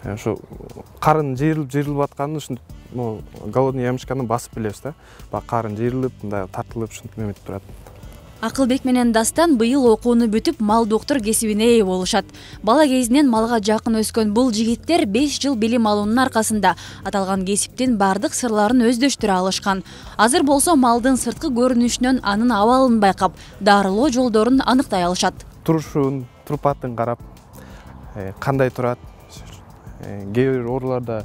Ошо карын жыйрылып атканын ушинтип голодный ямочканы басып билебиз да. Баягы карын жыйрылып, мындай тартылып ушинтип эметип турат. Акылбек менен Дастан быйыл окууну бүтүп, мал доктор кесибине ээ болушат. Бала кезинен малга жакын өскөн бул жигиттер 5 жыл билим алуунун аркасында аталган кесиптин бардык сырларын өздөштүрө алышкан. Азыр болсо малдын сырткы көрүнүшүнөн анын абалын байкап, дарылоо жолдорун аныктай алышат. Турушун, турпатын карап, кандай турат. Кээ бир ооруларда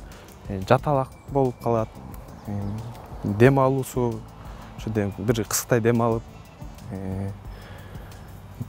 жаталак болуп калат. Дем алуусу, ошо бир кысыктай дем алып,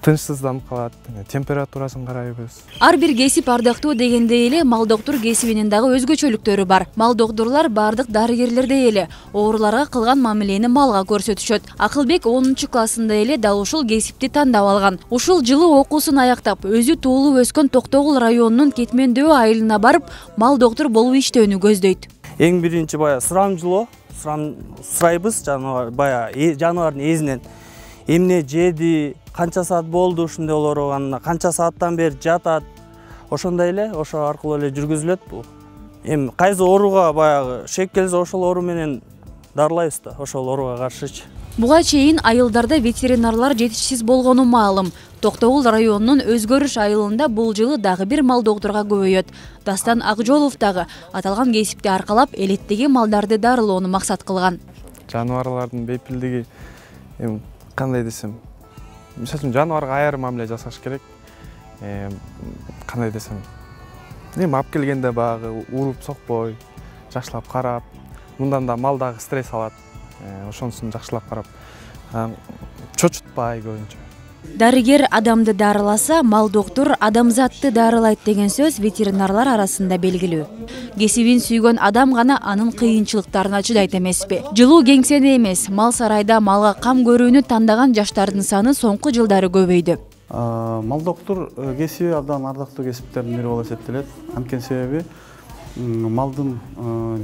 тынчсызданып калат, температурасын карайбыз. Ар бир кесип ардактуу дегендей эле мал доктор кесибинин дагы өзгөчөлүктөрү бар. Мал докторлор бардык дарыгерлердей эле ооруларга кылган мамилени малга көрсөтүшөт. Акылбек 10-классында эле дал ушул кесипти тандап алган. Ушул жылы окуусун аяктап, өзү туулуп өскөн Токтогул районунун Кетмендөө айылына барып, мал доктор болуп иштөөнү көздөйт. Эң биринчи сурамжылоо, сурайбыз жаныбардын эзинен. Эмне жеди, канча саат болду ушундай ооруканына, канча сааттан бери жатат. Ошондой эле, ошо аркылуу эле жүргүзүлөт бул. Эми кайсы ооруга шек келсе ошол оору менен дарылайбыз да, ошол ооруга каршычы. Буга чейин айылдарда ветеринарлар жетишсиз болгону маалым. Токтогул районунун Өзгөрүш айылында бул жылы дагы бир мал докторга көбөйөт. Дастан Акжолов дагы аталган кесипти аркалап элеттеги малдарды дарылоону максат кылган. Жаныбарлардын бейпилдиги кандай десем, мисалы үчүн жаныбарга айрым мамиле жасаш керек. Кандай десем, алып келгенде багы уруп сокпой, жакшылап карап, мындан да мал дагы стресс алат. Ошонусун жакшылап карап, чочутпай көбүнчө. Дарыгер адамды дарыласа, мал доктор адамзатты дарылайт деген сөз ветеринарлар арасында белгилүү. Кесибин сүйгөн адам гана анын кыйынчылыктарына чыдайт эмеспи? Жылуу кеңседе эмес, мал сарайда малга кам көрүүнү тандаган жаштардын саны соңку жылдары көбөйдү. Мал доктор кесиби абдан ардактуу кесиптердин бири болуп эсептелет. Анткени себеби малдын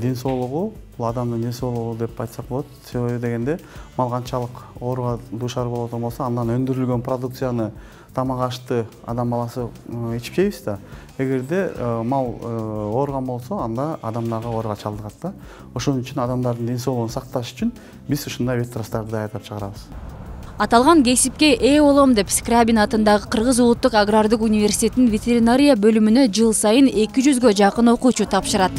ден соолугу, бул адамдын ден соолугу деп айтсак болот. Себеби дегенде мал канчалык ооруга дуушар болот болсо, андан өндүрүлгөн продукцияны, тамак ашты адам баласы ичип жейбиз да. Эгерде мал ооруган болсо, анда адам дагы ооруга чалдыгат да. Ошон үчүн адамдардын ден соолугун сакташ үчүн биз ушундай ветврачтарды даярдап чыгарабыз. Аталган кесипке ээ болом деп Скрябин атындагы Кыргыз улуттук агрардык университетинин ветеринария бөлүмүнө жыл сайын 200га жакын окуучу тапшырат.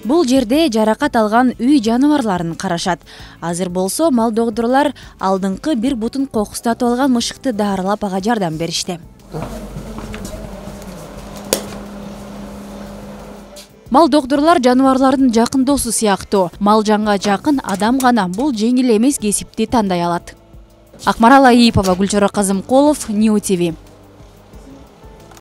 Бул жерде жаракат алган үй жаныбарларын карашат. Азыр болсо мал докторлор алдыңкы бир бутун кокустатып алган мышыкты дарылап ага жардам беришти. Мал докторлор жаныбарлардын жакын досу сыяктуу. Мал жанга жакын адам гана бул жеңил эмес кесипти тандай алат. Акмарал Аипова, Гүлчора Казымкулов, Нью ТВ.